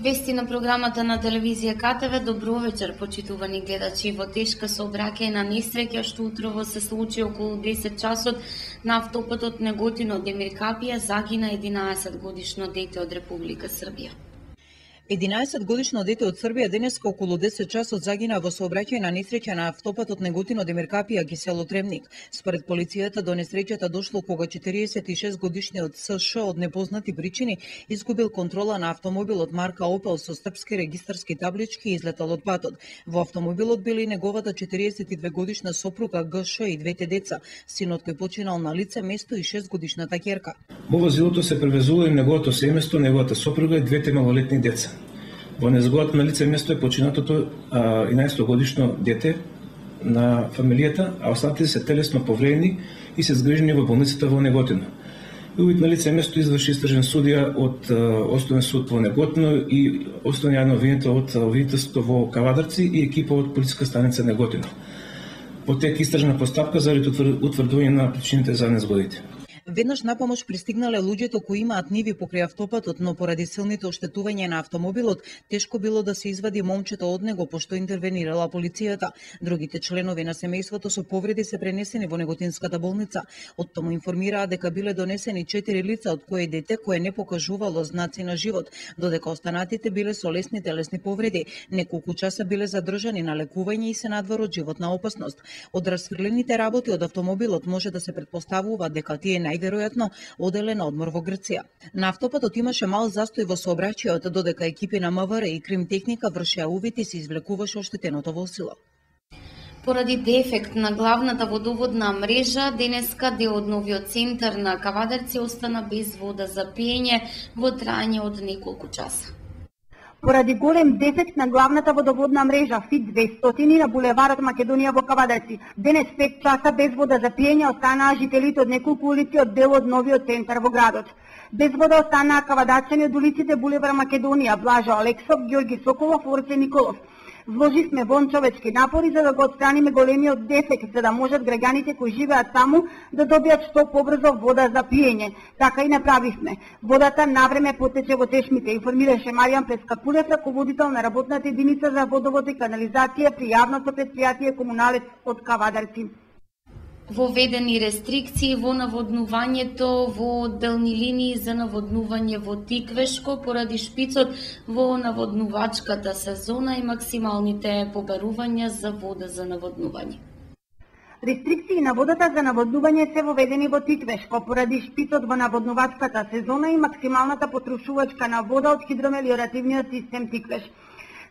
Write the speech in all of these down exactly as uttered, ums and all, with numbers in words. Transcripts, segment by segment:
Вести на програмата на телевизија КТВ. Добро вечер, почитувани гледачи. Во тешка сообраќајна несреќа што утрово се случи околу десет часот на автопатот Неготино-Демир Капија загина единаесет годишно дете од Република Србија. единаесет годишно дете од Србија денеска околу десет часот загина во сообраќајна несреќа на автопатот Неготино-Демир Капија ги село Требник. Според полицијата до несреќата дошло кога четириесет и шест годишниот СШ од непознати причини изгубил контрола на автомобилот марка Опел со српски регистарски таблички и излетал од патот. Во автомобилот били и неговата четириесет и две годишна сопруга ГШ и двете деца, синот кој починал на лице место и шест годишната ќерка. Во возилото се превезува и неговото семејство, неговата сопруга и двете малолетни деца. Во незгодата на лице место е починатото единаесет годишно дете на фамилијата, а останатите се телесно повредени и се згрижени во болницата во Неготино. И увид на лице место изврши истражен судија од Основен суд во Неготино и основно јавно обвинител од обвинителството во Кавадарци и екипа од полициска станица Неготино. Потека истражна постапка заради утврдување на причините за незгодите. Веднаш на помош пристигнале луѓето кои имаат ниви покрај автопатот, но поради силните оштетувања на автомобилот, тешко било да се извади момчето од него, пошто интервенирала полицијата. Другите членови на семејството со повреди се пренесени во Неготинската болница. Од тому информираа дека биле донесени четири лица, од кои дете кое не покажувало знаци на живот, додека останатите биле со лесни телесни повреди. Неколку часа биле задржани на лекување и се надвор од животна опасност. Од расфрлените работи од автомобилот може да се претпоставува дека тие најверојатно оделе на одмор во Грција. На автопатот имаше мал застој во сообраќајот, додека екипи на МВР и кримтехника вршеа увид и се извлекуваше оштетеното возило. Поради дефект на главната водоводна мрежа, денеска дел од новиот центар на Кавадарци остана без вода за пиење во траење од неколку часа. Поради голем дефект на главната водоводна мрежа Ф И двестоти на булеварот Македонија во Кавадарци, денес пет часа без вода за пиење останаа жителите од неколку улици од дел од новиот центар во градот. Без вода останаа кавадарчани од улиците булевар Македонија, Блажо Алексов, Ѓорги Соколов, Орце Николов. Вложивме вон човечки напори за да го отстраниме големиот дефект, за да можат граѓаните кои живеат таму да добијат што побрзо вода за пиење. Така и направивме. Водата навреме потече во тешмите, информираше Маријан Прескапулев, раководител на работната единица за водовод и канализација при јавното претпријатие Комуналец од Кавадарци. Воведени рестрикции во наводнувањето во одделни линии за наводнување во Тиквешко поради шпицот во наводнувачката сезона и максималните побарувања за вода за наводнување. Рестрикции на водата за наводнување се воведени во Тиквешко поради шпицот во наводнувачката сезона и максималната потрошувачка на вода од хидромелиоративниот систем Тиквеш.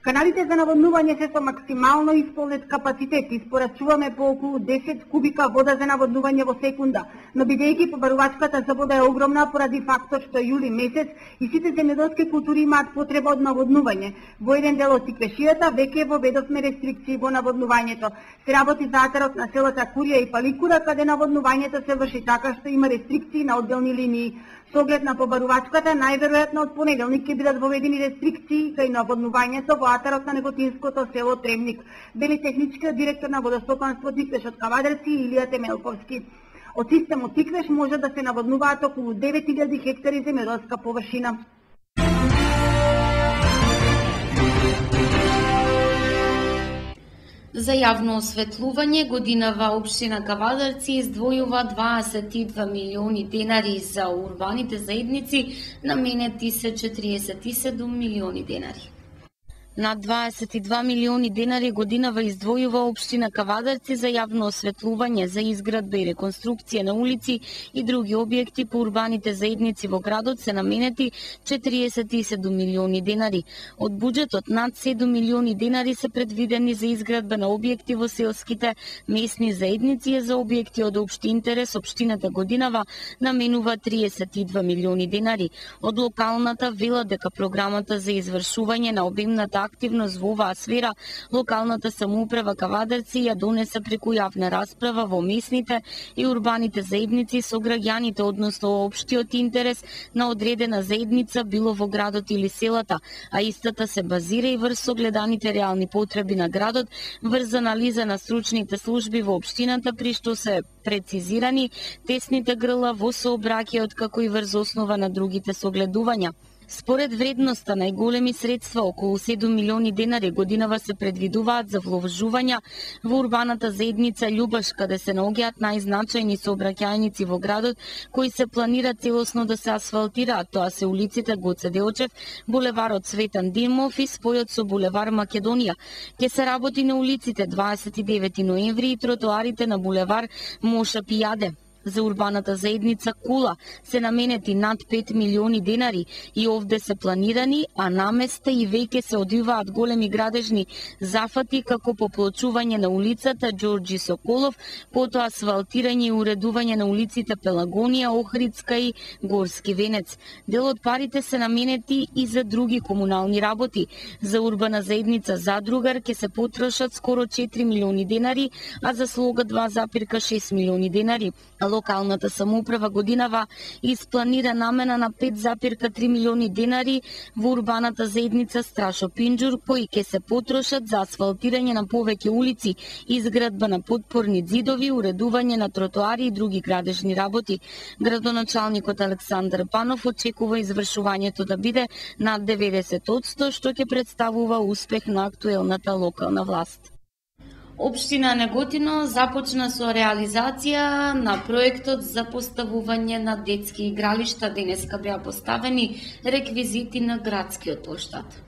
Каналите за наводнување се со максимално исполнет капацитет. Испорачуваме по околу десет кубика вода за наводнување во секунда, но бидејќи побарувачката за вода е огромна поради фактор што е јули месец и сите земјоделски култури имаат потреба од наводнување. Во еден дел од Тиквешијата веќе воведовме рестрикции во наводнувањето. Се работи за атарот на селата Курија и Паликура, каде наводнувањето се врши така што има рестрикции на одделни линии. Со оглед на побарувачката, најверојатно од понеделник ќе бидат воведени рестрикции кај наводнувањето во атарот на неготинското село Требник, вели техничкиот директор на водостопанство Тиквеш од Кавадарци Илија Темелковски. Од системот Тиквеш може да се наводнуваат околу девет илјади хектари земјоделска површина. За јавно осветлување годинава општина Кавадарци издвојува дваесет и два милиони денари, за урбаните заедници наменети се четириесет и седум милиони денари. Над дваесет и два милиони денари годинава издвојува општина Кавадарци за јавно осветлување, за изградба и реконструкција на улици и други објекти по урбаните заедници во градот се наменети четириесет и седум милиони денари. Од буџетот над седум милиони денари се предвидени за изградба на објекти во селските месни заедници и за објекти од општи интерес. Општината годинава наменува триесет и два милиони денари. Од локалната вела дека програмата за извршување на обемната активност во оваа сфера, локалната самоуправа Кавадарци ја донесе преку јавна расправа во месните и урбаните заедници со граѓаните, односно општиот интерес на одредена заедница, било во градот или селата, а истата се базира и врз согледаните реални потреби на градот, врз анализа на стручните служби во општината, при што се прецизирани тесните грла во сообраќајот, како и врз основа на другите согледувања. Според вредноста, најголеми средства, околу седум милиони денари годинава се предвидуваат за вложувања во урбаната заедница Љубаш, каде се наоѓаат најзначајни сообраќајници во градот, кои се планира целосно да се асфалтираат. Тоа се улиците Гоце Делчев, булеварот Цветан Димов и спојот со булевар Македонија. Ке се работи на улиците дваесет и девети ноември и тротоарите на булевар Моша Пијаде. За урбаната заедница Кула се наменети над пет милиони денари и овде се планирани, а наместа и веќе се одвиваат големи градежни зафати како поплочување на улицата Ѓорѓи Соколов, потоа асфалтирање и уредување на улиците Пелагонија, Охридска и Горски Венец. Дел од парите се наменети и за други комунални работи. За урбана заедница Задругар ќе се потрошат скоро четири милиони денари, а за Слога два запирка шест милиони денари. Локалната самоуправа годинава испланира намена на пет запирка три милиони денари во урбаната заедница Страшо Пинџур, кои ќе се потрошат за асфалтирање на повеќе улици, изградба на подпорни ѕидови, уредување на тротоари и други градежни работи. Градоначалникот Александар Панов очекува извршувањето да биде над деветдесет одсто, што ќе представува успех на актуелната локална власт. Општина Неготино започна со реализација на проектот за поставување на детски игралишта. Денеска беа поставени реквизити на градскиот плоштад.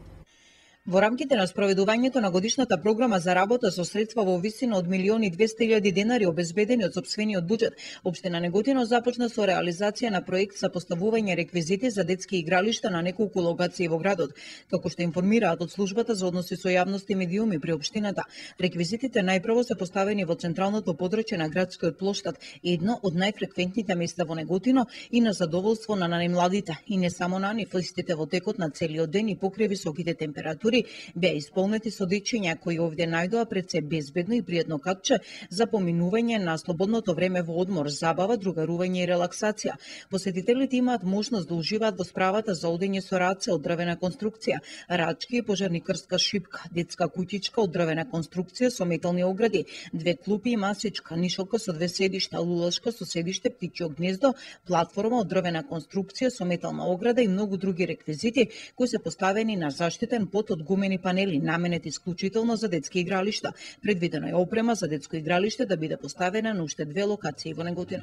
Во рамките на спроведувањето на годишната програма за работа со средства во висина од милион и двесте илјади денари обезбедени од сопствениот буџет, Општина Неготино започна со реализација на проект за поставување реквизити за детски игралишта на неколку локации во градот. Како што информираат од службата за односи со јавност и медиуми при општината, реквизитите најпрво се поставени во централното подрачје на градскиот плоштад, едно од најфреквентните места во Неготино и на задоволство на најмладите, и не само на нив, истите во текот на целиот ден и покрај високите температури беа исполнети со дечиња кои овде најдоа пред се безбедно и пријатно катче за поминување на слободното време во одмор, забава, другарување и релаксација. Посетителите имаат можност да уживаат во справата за одење со раце од дрвена конструкција, рачки и пожарникарска шипка, детска куќичка од дрвена конструкција со метални огради, две клупи и масичка, нишалка со две седишта, лулашка со седиште, птичјо гнездо, платформа од дрвена конструкција со метална ограда и многу други реквизити кои се поставени на заштитен под од гумени панели, наменети исклучително за детски игралишта. Предвидено е опрема за детско игралиште да биде поставена на уште две локации во Неготино.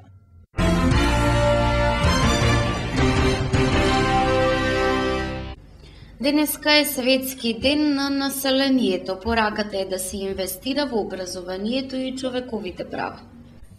Денеска е Светски ден на населението. Пораката е да се инвестира во образованието и човековите права.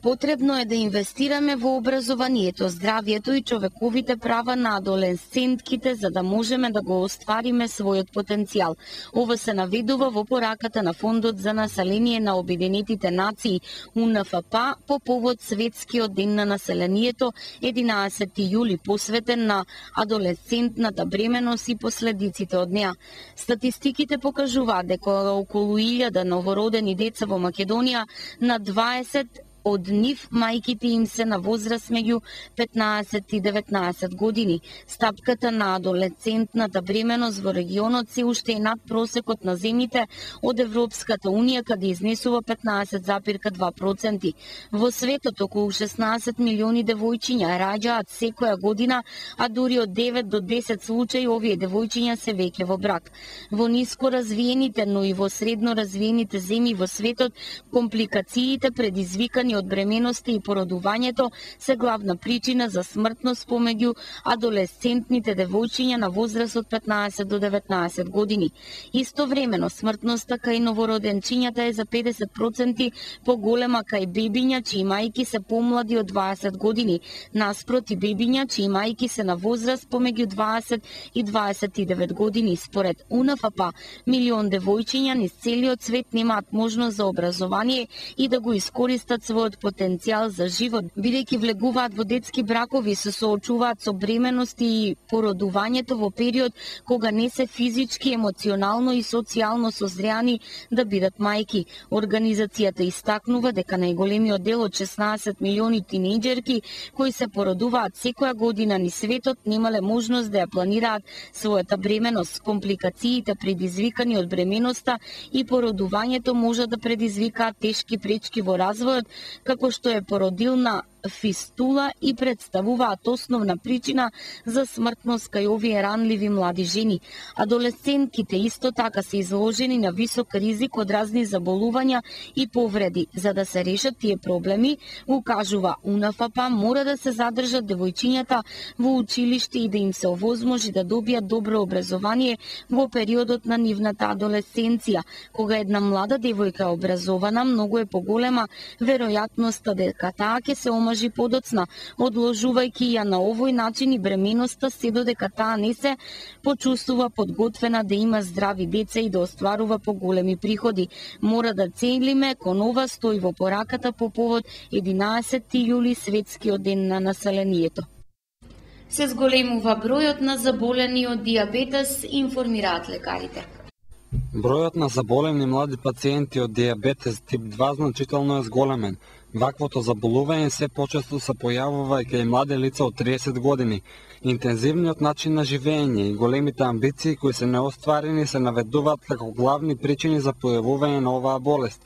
Потребно е да инвестираме во образованието, здравието и човековите права на адолесцентките за да можеме да го оствариме својот потенцијал. Ова се наведува во пораката на Фондот за население на Обединетите нации У Н Ф П по повод Светскиот ден на населението единаесети јули, посветен на адолесцентната бременост и последиците од неа. Статистиките покажуваат дека околу илјада новородени деца во Македонија на дваесет од нив мајките им се на возраст меѓу петнаесет и деветнаесет години. Стапката на адолесцентната бременост во регионот се уште е над просекот на земјите од Европската унија, каде изнесува петнаесет запирка два проценти. Во светот околу шеснаесет милиони девојчиња раѓаат секоја година, а дури од девет до десет случаи овие девојчиња се веќе во брак. Во ниско развиените, но и во средно развиените земји во светот, компликациите предизвикани од бременоста и породувањето се главна причина за смртност помеѓу адолесцентните девојчиња на возраст од петнаесет до деветнаесет години. Истовремено, смртноста кај новороденчињата е за педесет проценти поголема кај бебиња чии мајки се помлади од дваесет години, наспроти бебиња чии мајки се на возраст помеѓу дваесет и дваесет и девет години. Според У Н Ф П, милион девојчиња низ целиот свет немаат можност за образование и да го искористат својот потенцијал за живот, бидејќи влегуваат во детски бракови, се соочуваат со бременност и породувањето во период кога не се физички, емоционално и социјално созреани да бидат мајки. Организацијата истакнува дека најголемиот дел од шеснаесет милиони тинејџерки кои се породуваат секоја година низ светот немале можност да ја планираат својата бременност. Компликациите предизвикани од бременоста и породувањето може да предизвикаат тешки пречки во развојот, како што е породилна фистула и представуваат основна причина за смртност кај овие ранливи млади жени. Адолесцентките исто така се изложени на висок ризик од разни заболувања и повреди. За да се решат тие проблеми, укажува УНФП, мора да се задржат девојчињата во училиште и да им се овозможи да добијат добро образование во периодот на нивната адолесценција. Кога една млада девојка е образована, многу е поголема веројатноста дека таа ќе се омажи подоцна, одложувајќи ја на овој начин и бременоста се додека таа не се почувствува подготвена да има здрави деца и да остварува поголеми приходи. Мора да целиме кон ова, стои во пораката по повод единаесетти јули, светскиот ден на населението. Се зголемува бројот на заболени од дијабетес, информираат лекарите. Бројот на заболени млади пациенти од дијабетес тип два значително е зголемен. Ваквото заболување се почесто се појавува и кај млади лица од триесет години. Интензивниот начин на живење и големите амбиции кои се неостварени се наведуваат како главни причини за појавување на оваа болест.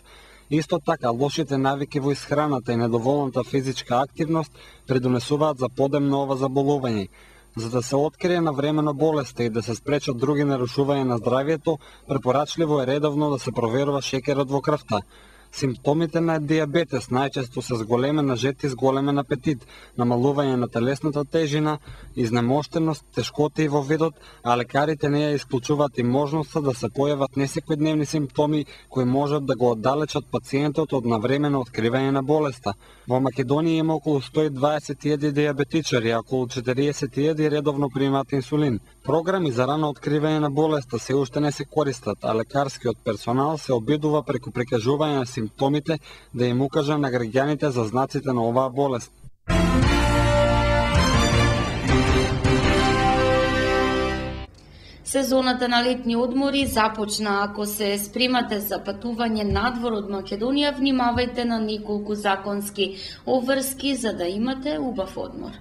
Исто така, лошите навики во исхраната и недоволната физичка активност придонесуваат за подем ова заболување. За да се открие навремено болеста и да се спречат други нарушувања на здравието, препорачливо е редовно да се проверува шекерот во крвта. Симптомите на дијабетес најчесто се зголемена жет и зголемен апетит, намалување на телесната тежина, изнемоштеност, тешкоти во видот, а лекарите не ја исклучуваат и можноста да се појават несекојдневни симптоми кои можат да го оддалечат пациентот од навремено откривање на болеста. Во Македонија има околу сто и дваесет илјади дијабетичари, а околу четириесет илјади редовно примаат инсулин. Програми за рано откривање на болеста се уште не се користат, а лекарскиот персонал се обидува преку прикажување на симптомите да им укажа на граѓаните за знаците на оваа болест. Сезоната на летни одмори започна. Ако се спремате за патување надвор од Македонија, внимавајте на неколку законски обврски за да имате убав одмор.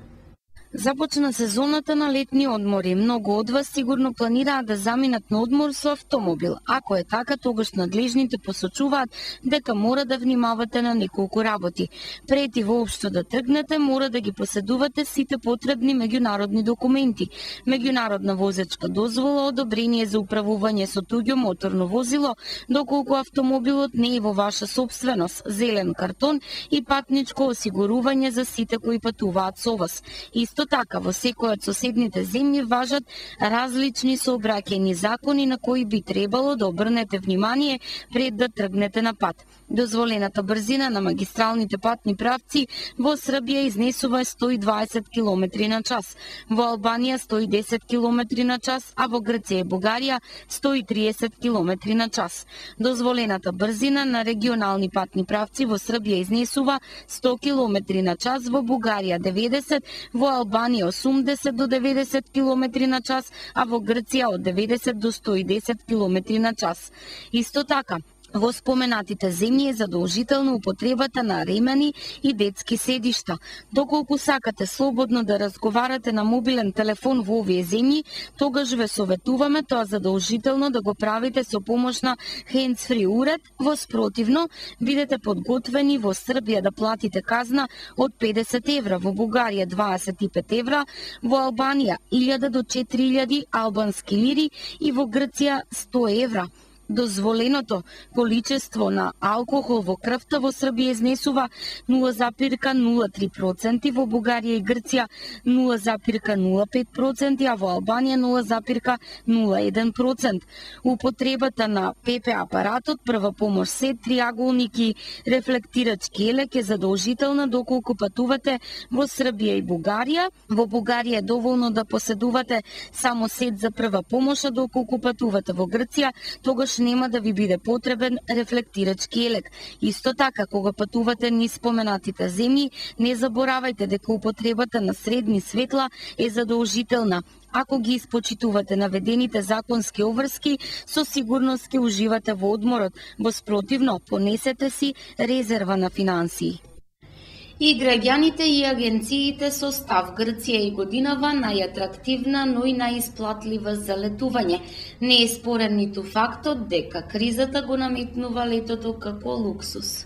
Започна сезоната на летни одмори. Многу од вас сигурно планираат да заминат на одмор со автомобил. Ако е така, тогаш надлежните посочуваат дека мора да внимавате на неколку работи. Прети воопшто да тргнете, мора да ги поседувате сите потребни меѓународни документи. Меѓународна возечка дозвола, одобрение за управување со туѓо моторно возило, доколку автомобилот не е во ваша собственост, зелен картон и патничко осигурување за сите кои патуваат со вас. Исто така, во секој од соседните земји важат различни сообраќајни закони на кои би требало да обрнете внимание пред да тргнете на пат. Дозволената брзина на магистралните патни правци во Србија изнесува сто и дваесет километри на час, во Албанија сто и десет километри на час, а во Грција и Бугарија сто и триесет километри на час. Дозволената брзина на регионални патни правци во Србија изнесува сто километри на час, во Бугарија деветдесет, во Албанија осумдесет до деветдесет километри на час, а во Грција од деветдесет до сто и десет километри на час. Исто така, во споменатите земји е задолжителна употребата на ремени и детски седишта. Доколку сакате слободно да разговарате на мобилен телефон во овие земји, тогаш ве советуваме тоа задолжително да го правите со помош на hands-free уред. Во спротивно, бидете подготвени во Србија да платите казна од педесет евра, во Бугарија дваесет и пет евра, во Албанија илјада до четири илјади албански лири и во Грција сто евра. Дозволеното количество на алкохол во крвта во Србија изнесува нула запирка нула три проценти, во Бугарија и Грција нула запирка нула пет проценти, а во Албанија нула запирка нула еден процент. Употребата на ПП апаратот, прва помош сет, триаголник и рефлектирачки елек е задолжителна доколку патувате во Србија и Бугарија. Во Бугарија е доволно да поседувате само сет за прва помош, а доколку патувате во Грција, тогаш нема да ви биде потребен рефлектирачки елек. Исто така, кога патувате низ споменатите земји, не заборавајте дека употребата на средни светла е задолжителна. Ако ги испочитувате наведените законски обврски, со сигурност ќе уживате во одморот. Во спротивно, понесете си резерва на финансии. И граѓаните и агенциите со став Грција и годинава најатрактивна, но и најисплатлива за летување. Не е спорен ниту фактот дека кризата го наметнува летото како луксус.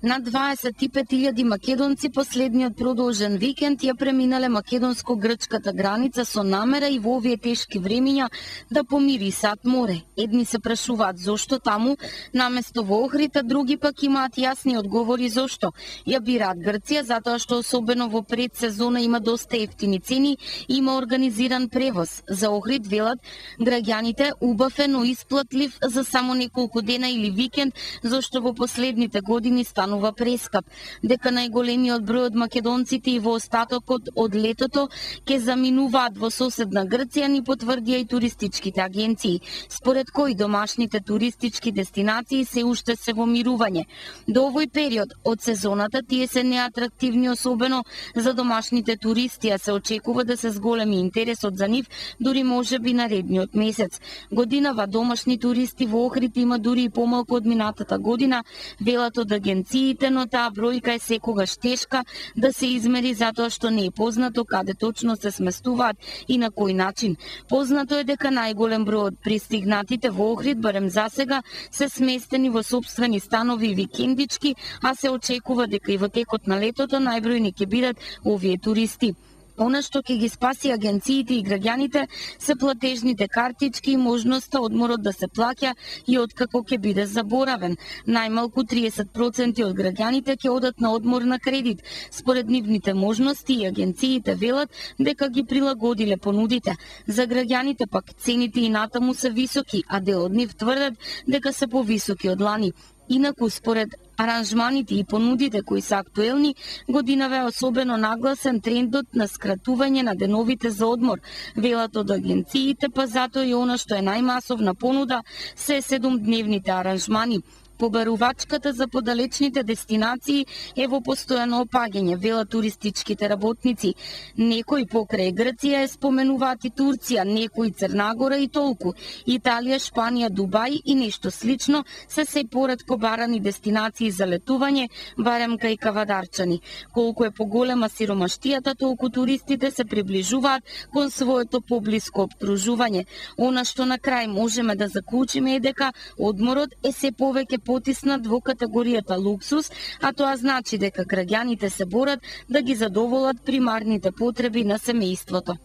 На дваесет и пет илјади македонци последниот продолжен викенд ја преминале македонско-грчката граница со намера и во овие тешки времиња да помирисаат море. Едни се прашуваат зошто таму наместо во Охрид, а други пак имаат јасни одговори зошто. Ја бираат Грција затоа што особено во предсезона има доста ефтини цени и има организиран превоз. За Охрид велат граѓаните убав е, но исплатлив за само неколку дена или викенд, зашто во последните години станува прескап. Дека најголемиот број од македонците и во остатокот од летото ќе заминуваат во соседна Грција, ни потврдија и туристичките агенции, според кои домашните туристички дестинации се уште се во мирување. До овој период од сезоната тие се неатрактивни, особено за домашните туристи, а се очекува да се зголеми интересот за нив дури можеби наредниот месец. Годинава домашни туристи во Охрид има дури и помалку од минатата година, велат од агенциите, но таа бројка е секогаш тешка да се измери затоа што не е познато каде точно се сместуваат и на кој начин. Познато е дека најголем број од пристигнатите во Охрид, барем засега, се сместени во сопствени станови и викендички, а се очекува дека и во текот на летото најбројни ќе бидат овие туристи. Она што ќе ги спаси агенциите и граѓаните се платежните картички и можноста одморот да се плаќа и откако ќе биде заборавен. Најмалку триесет проценти од граѓаните ќе одат на одмор на кредит. Според нивните можности и агенциите велат дека ги прилагодиле понудите. За граѓаните пак цените и натаму се високи, а дел од нив тврдат дека се повисоки од лани. Инаку, според аранжманите и понудите кои се актуелни, годинава е особено нагласен трендот на скратување на деновите за одмор. Велат од агенциите, па затоа и она што е најмасовна понуда се седумдневните аранжмани. Побарувачката за подалечните дестинации е во постојано опаѓање, велат туристичките работници. Некои покрај Грција е споменуваат и Турција, некои Црна Гора и толку. Италија, Шпанија, Дубај и нешто слично се се поретко барани дестинации за летување, барем кај кавадарчани. Колку е поголема сиромаштијата, толку туристите се приближуваат кон своето поблиско обкружување. Она што на крај можеме да заклучиме е дека одморот е се повеќе потиснат во категоријата луксус, а тоа значи дека граѓаните се борат да ги задоволат примарните потреби на семејството.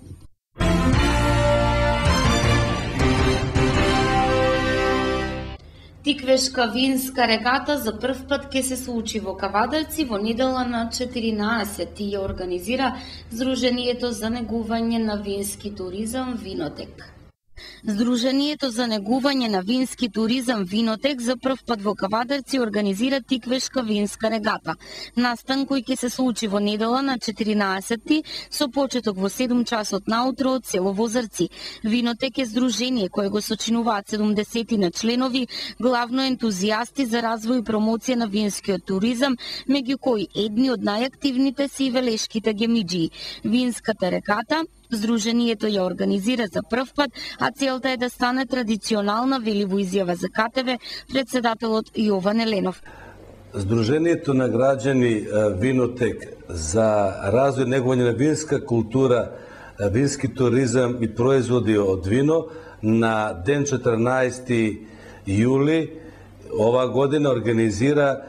Тиквешка винска регата за прв пат ќе се случи во Кавадарци во недела на четиринаесетти ја организира Сдруженијето за негување на вински туризам Винотек. Сдруженијето за негување на вински туризам Винотек за прв пат во Кавадарци организира Тиквешка винска регата. Настан кој ќе се случи во недела на четиринаесетти со почеток во седум часот наутро од село Возарци. Винотек е здружение кое го сочинуваат седумдесет на членови, главно ентузијасти за развој и промоција на винскиот туризам, меѓу кои едни од најактивните се и велешките гемиџии. Винската регата Сдруженијето ја организира за прв пат, а целта е да стане традиционална, вели во изјава за КТВ председателот Јован Еленов. Сдруженијето на граѓани Винотек за развој и негување на винска култура, вински туризам и производи од вино на ден четрнаесети јули ова година организира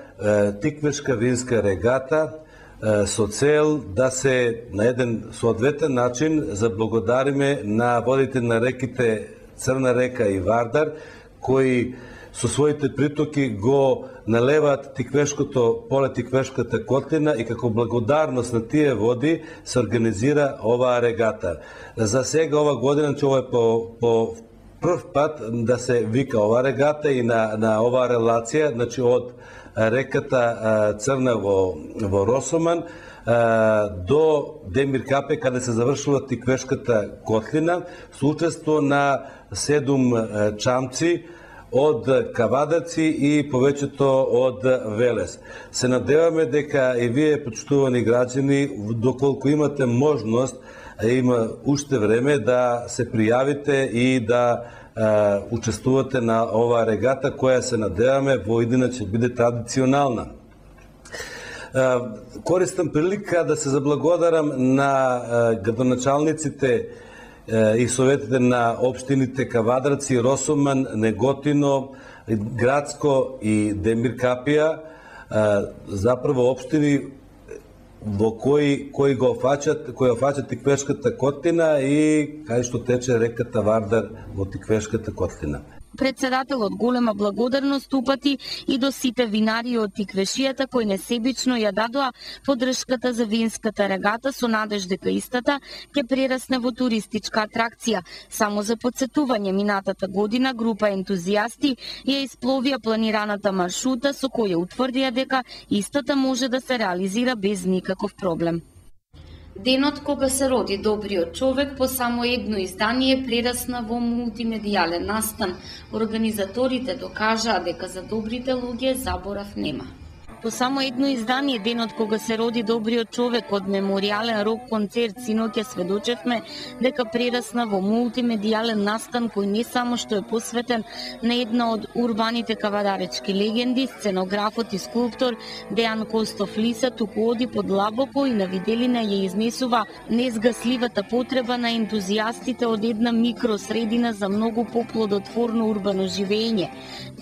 Тиквешка винска регата со цел да се на еден соодветен начин заблагодариме на водите на реките Црна река и Вардар, кои со своите притоки го налеваат Тиквешкото поле, Тиквешката котлина, и како благодарност на тие води се организира оваа регата. За сега ова година, че ова е по, по прв пат да се вика ова регата и на, на оваа релација, значи од реката Црна во, во Росоман до Демир Капе, каде се завршува Тиквешката котлина, со учество на седум чамци од Кавадарци и повеќето од Велес. Се надеваме дека и вие, почитувани граѓани, доколку имате можност, има уште време да се пријавите и да Uh, учествувате на оваа регата, која се надеваме во иднина ќе биде традиционална. Uh, користам прилика да се заблагодарам на uh, градоначалниците uh, и советите на општините Кавадарци, Росоман, Неготино, Градско и Демир Капија, заправо општини во кои кои го фаќат, кои фаќат Тиквешката котлина и кај што тече реката Вардар во Тиквешката котлина. Председателот голема благодарност упати и до сите винари од Тиквешијата кои несебично ја дадоа поддршката за винската регата со надеж дека истата ќе прерасне во туристичка атракција. Само за подсетување, минатата година група ентузијасти ја испловија планираната маршрута со која утврдија дека истата може да се реализира без никаков проблем. Денот кога се роди добриот човек по само едно издание прерасна во мултимедијален настан. Организаторите докажаа дека за добрите луѓе заборав нема. По само едно издание, денот кога се роди добриот човек од меморијален рок концерт синоќа сведочевме дека прерасна во мултимедијален настан кој не само што е посветен на една од урбаните кавадаречки легенди, сценографот и скулптор Дејан Костов Лиса туку оди подлабоко и на виделина ја изнесува незгасливата потреба на ентузијастите од една микросредина за многу поплодотворно урбано живење.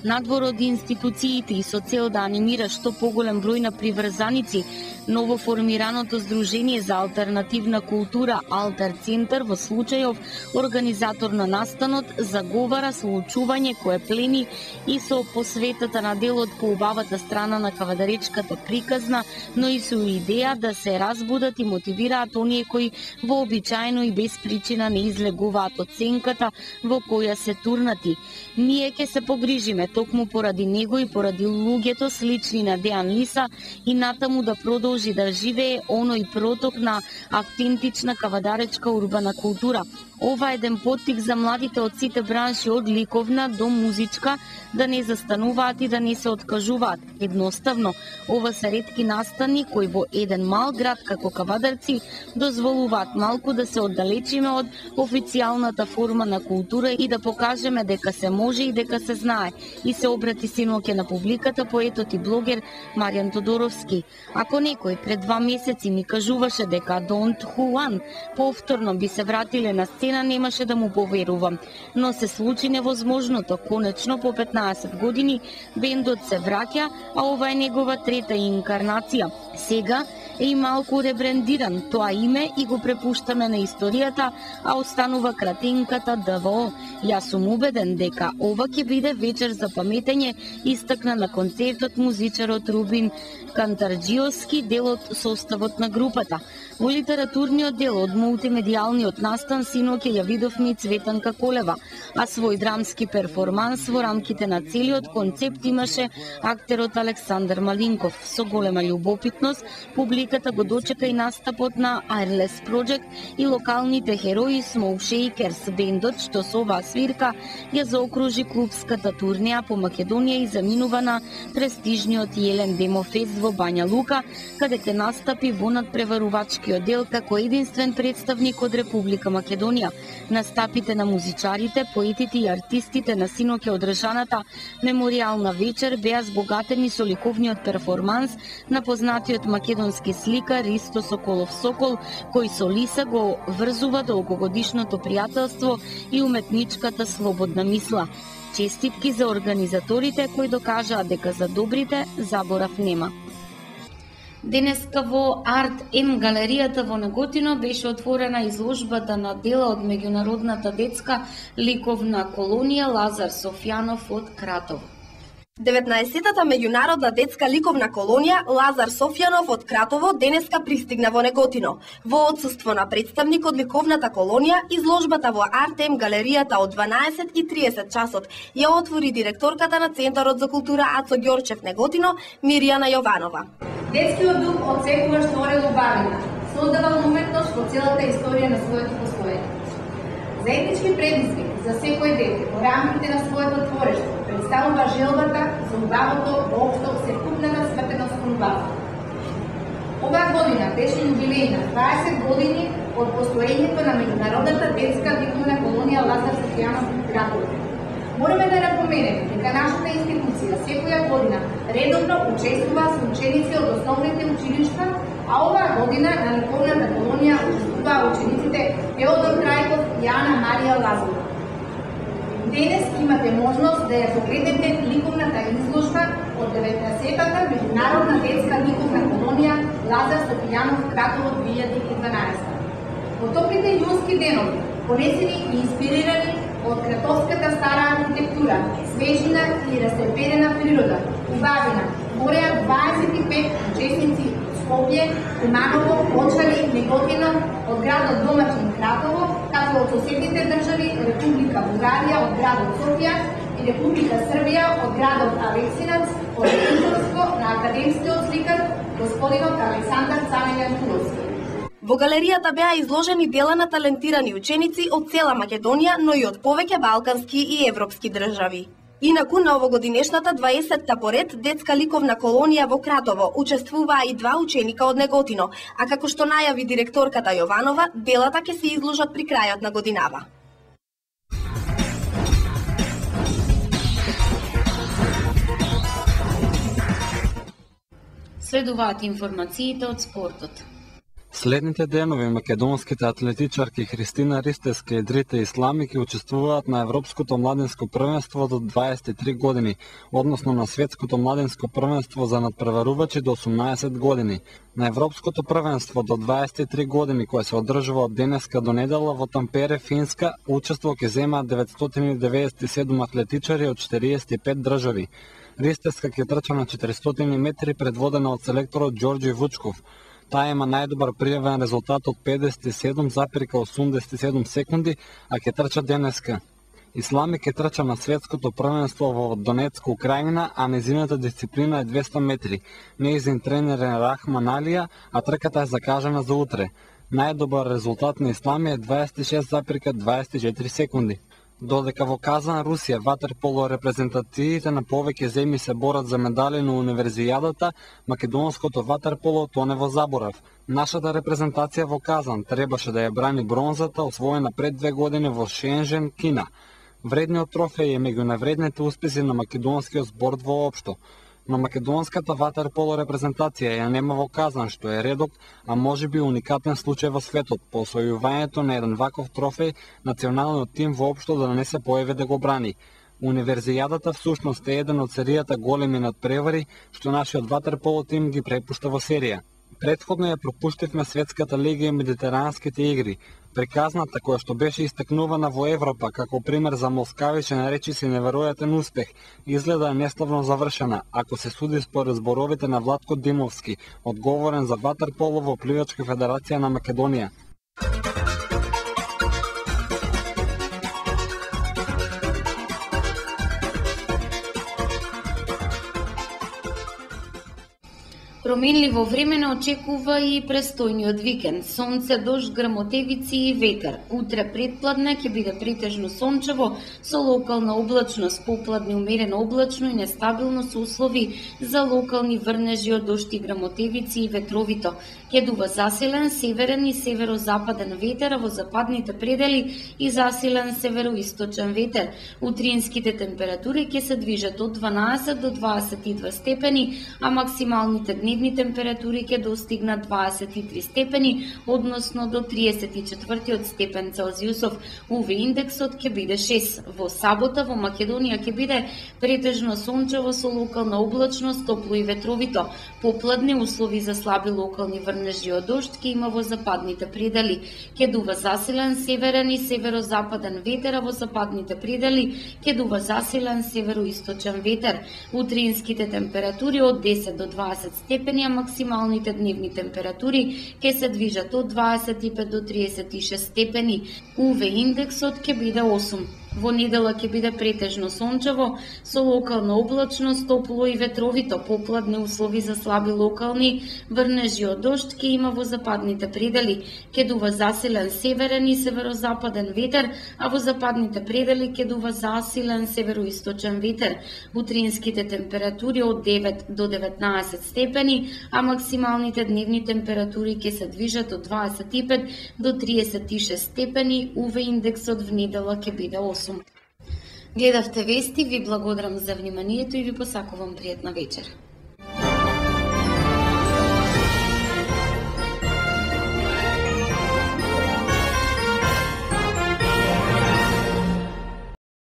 Надвор од институциите и со цел да анимира што поголем број на приврзаници, новоформираното Здружение за алтернативна култура Алтер Центар во случајов организатор на настанот заговара со учување кое плени и со посветата на делот по убавата страна на кавадаречката приказна, но и со идеја да се разбудат и мотивираат оние кои вообичаено и без причина не излегуваат од сенката во која се турнати. Ние ќе се погрижиме токму поради него и поради луѓето слични на Дејан Лиса и натаму да продолжи да живее оној проток на автентична кавадаречка урбана култура. Ова е еден поттик за младите од сите бранши, од ликовна до музичка, да не застануваат и да не се откажуваат. Едноставно, ова се ретки настани кои во еден мал град како Кавадарци дозволуваат малку да се оддалечиме од официјалната форма на култура и да покажеме дека се може и дека се знае. И се обрати синоќе на публиката поетот и блогер Маријан Тодоровски. Ако некој пред два месеци ми кажуваше дека Дон Хуан повторно би се вратиле на сцена, немаше да му поверувам. Но се случи невозможното. Конечно, по петнаесет години бендот се враќа, а ова е негова трета инкарнација. Сега е и малку ребрендиран тоа име и го препуштаме на историјата, а останува кратенката ДВО. Јас сум убеден дека ова ќе биде вечер за паметење, истакна на концертот музичарот Рубин Кантарџиовски, дел од составот на групата. Во литературниот дел од мултимедијалниот настан синоќе ја видовме и Цветанка Колева, а свој драмски перформанс во рамките на целиот концепт имаше актерот Александар Малинков. Со голема љубопитност публиката го дочека и настапот на Airless Project и локалните херои Smoke Shakers, бендот што со оваа свирка ја заокружи клубската турнеја по Македонија и заминува на престижниот Елен Демо Фест во Бања Лука, каде ќе настапи во надпреварувачкиот дел како единствен представник од Република Македонија. Настапите на музичарите, поетите и артистите на синоќе одржаната меморијална вечер беа збогатени со ликовниот перформанс на познатиот македонски сликар Ристо Соколов Сокол, кој со Лиса го врзува долгогодишното пријателство и уметничката слободна мисла. Честитки за организаторите кои докажаа дека за добрите заборав нема. Денеска во Арт М галеријата во Неготино беше отворена изложбата на дела од меѓународната детска ликовна колонија Лазар Софјанов од Кратово. деветнаесеттата меѓународна детска ликовна колонија Лазар Софјанов од Кратово денеска пристигна во Неготино. Во отсуство на представник од ликовната колонија, изложбата во Артем галеријата од дванаесет и триесет часот ја отвори директорката на Центарот за култура Ацо Ѓорчев Неготино, Мирјана Јованова. Детскиот дух од секогаш творел убавина, создавал уметност во целата историја на своето постоење. Заеднички предизвик за секој дете во рамките на своето творештво представува желбата за убавото во општо секупната свртеност кон убавото. Оваа година беше јубилејна дваесет години од постоењето на меѓународната детска ликовна колонија Лазар Софјанов во Кратово. Мораме да напоменеме дека нашата институција секоја година редовно учествува со ученици од основните училишта, а оваа година на ликовната колонија учествуваа учениците Теодор Трајков и Ана Марија Лазарова. Денес имате можност да ја погледнете ликовната изложба од деветнаесеттата меѓународна детска ликовна колонија Лазар Софијанов Кратово две илјади и дванаесета. Потоплите јунски денови, понесени и инспирирани од кратовската стара архитектура, свежина и растрепедена природа, убавина, мореа дваесет и пет учесници од Скопје, Куманово, Очали, Неготино, од градот домаќин Кратово, како од соседните држави Република Бугарија од градот Софија и Република Србија од градот Алексинац, од присуство на академскиот сликар господинот Александар Цанелјан Туловски. Во галеријата беа изложени дела на талентирани ученици од цела Македонија, но и од повеќе балкански и европски држави. Инаку на овогодинешната дваесетта поред детска ликовна колонија во Кратово учествуваа и два ученика од Неготино, а како што најави директорката Јованова, делата ќе се изложат при крајот на годинава. Следуваат информациите од спортот. Следните денови македонските атлетичарки Христина Ристевска и Дрита Ислами ќе учествуваат на Европското младинско првенство до дваесет и три години, односно на Светското младинско првенство за надпреварувачи до осумнаесет години. На Европското првенство до дваесет и три години, кое се одржува од денеска до недела во Тампере, Финска, учество ќе земаат деветстотини деведесет и седум атлетичари од четириесет и пет држави. Ристевска ќе трча на четиристотини метри предводена од селекторот Ѓорѓе Вучков. Таа има најдобар пријавен резултат од педесет и седум запирка осумдесет и седум секунди, а ќе трча денеска. Ислами ќе трча на светското првенство во Донецка, Украина, а незината дисциплина е двесте метри. Нејзин тренер е Рахман Алија, а трката е закажана за утре. Најдобар резултат на Ислами е дваесет и шест запирка дваесет и четири секунди. Додека во Казан, Русија, ватерполо репрезентациите на повеќе земји се борат за медали на универзијадата, македонското ватерполо тоне во заборав. Нашата репрезентација во Казан требаше да ја брани бронзата, освоена пред две години во Шенжен, Кина. Вредниот трофеј е меѓу највредните успеси на македонскиот спорт воопшто. Но македонската ватерполо репрезентација ја нема во Казан, што е редок, а можеби уникатен случај во светот. По освојувањето на еден ваков трофеј, националниот тим воопшто да не се појави да го брани. Универзијадата всушност е еден од серијата големи надпревари, што нашиот ватерполо тим ги препушта во серија. Претходно ја пропуштивме светската лига и медитеранските игри. Приказната која што беше истакнувана во Европа како пример за москавичен речиси неверојатен успех, изгледа неславно завршена, ако се суди според зборовите на Владко Димовски, одговорен за ватерполо во Пливачка федерација на Македонија. Променливо време не очекува и престојниот викенд. Сонце, дожд, грмотевици и ветер. Утре предпладне ќе биде претежно сончево со локална облачност, попладне умерено облачно и нестабилно со услови за локални врнежи од дожд и грмотевици и ветровито. Ќе дува засилен северен и северозападен ветер, а во западните предели и засилен североисточен ветер. Утринските температури ќе се движат од дванаесет до дваесет и две степени, а максималните дневни температури ќе достигнат дваесет и три степени, односно до триесет и четврти степен Целзиусов. УВ индексот ќе биде шест. Во сабота во Македонија ќе биде претежно сончево со локална облачност, топло и ветровито. Попладни услови за слаби локални врнежи од дожд ќе има во западните предели. Ќе дува засилен северен и северозападен ветер, а во западните предели ќе дува засилен североисточен ветер. Утринските температури од десет до дваесет степени, а максималните дневни температури ќе се движат од дваесет и пет до триесет и шест степени. УВ индексот ќе биде осум. Во недела ќе биде претежно сончево со локална облачност, топло и ветровито. Попладни услови за слаби локални врнежи од дожд ќе има во западните предели. Ќе дува засилен северен и северозападен ветер, а во западните предели ќе дува засилен североисточен ветер. Утринските температури од девет до деветнаесет степени, а максималните дневни температури ќе се движат од дваесет и пет до триесет и шест степени. УВ индексот во недела ќе биде осум. Гледавте вести, ви благодарам за вниманието и ви посакувам пријатна вечер.